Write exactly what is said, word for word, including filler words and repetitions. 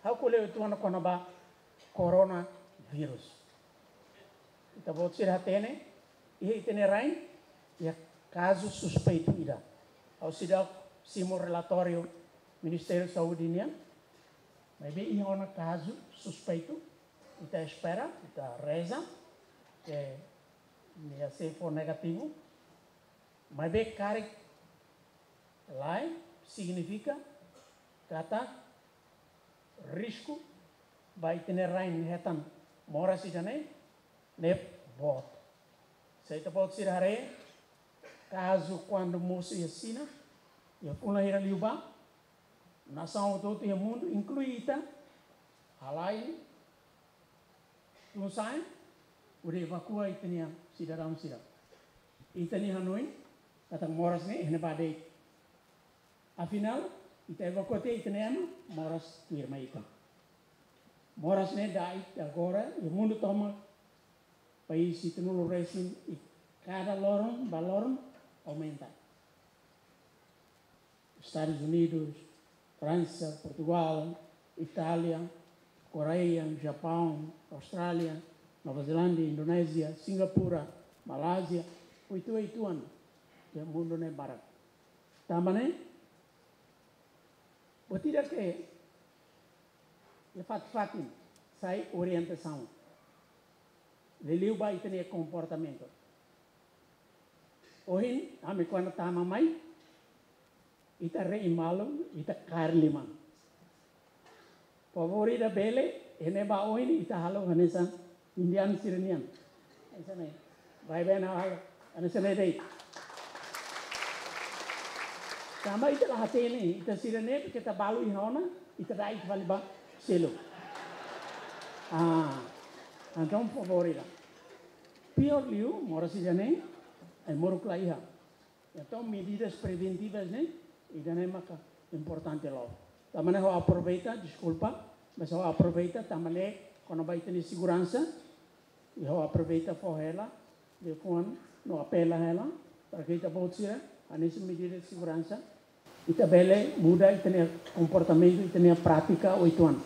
Ha'u ko'alia uitoan kona-ba coronavirus. Ita-boot sira hatene, iha ita-nia rain, iha kazu suspeitu ida. Ha'u seidauk simu relatóriu Ministériu Saúde nian, maibé iha ona kazu suspeitu, ita espera, ita reza, ke nia sei fó negativu, maibé karik lae, signifika katak risku ba ita-nia rain hetan moras ida-ne'e, ne'e boot. Se ita-boot sira haree, kazu kuandu mosu iha Xina, iha fulan hira liubá, nasaun hotu-hotu iha mundu, inklui ita, halai tun-sa'e, hodi evakua ita-nia sidadaun sira. Ita-nia hanoin, katak moras ne'e iha ne'ebá de'it. Afinál, ita evakua tiha ita-nia ema, moras tuir mai ita. Moras ne'e da'et agora, iha mundu tomak, país hitunulu resin, i kada loron ba loron aumenta. Estadus Unidus, Fransa, Portugál, Itália, Koreia, Japaun, Austrália, Nova Zelándia, Indonézia, Singapura, Malázia, uitoan-uitoan iha mundu ne'e barak. Tanba ne'e, buat ida ke iha fatin-fatin sai orientasaun. Liuliu ba ita-nia komportamentu. Ohin, ami kuandu tama mai, ita rein malu, ita kaer liman. Favór ida bele, iha ne'ebá ohin ita halo hanesan indianu sira-nian. Hanesan ne'e. Baibain halo, hanesan ne'e de'it. Tanba ita la hatene, ita sira-ne'e, ita balu iha ona, ita da'et fali ba seluk. Ah, entaun favór ida. Piór liu, moras ida-ne'e, ai-moruk la iha. Entaun, medidas preventivas ne'e, ida-ne'e maka importante loos. Tanba ne'e ha'u aproveita, deskulpa, mas ha'u aproveita, tanba ne'e kona-ba ita-nia seguransa, i ha'u aproveita fó hela liafuan no apela hela, para ke ita-boot sira, hanesan medida de seguransa, ita bele muda ita-nia komportamentu, ita-nia prátika uitoan.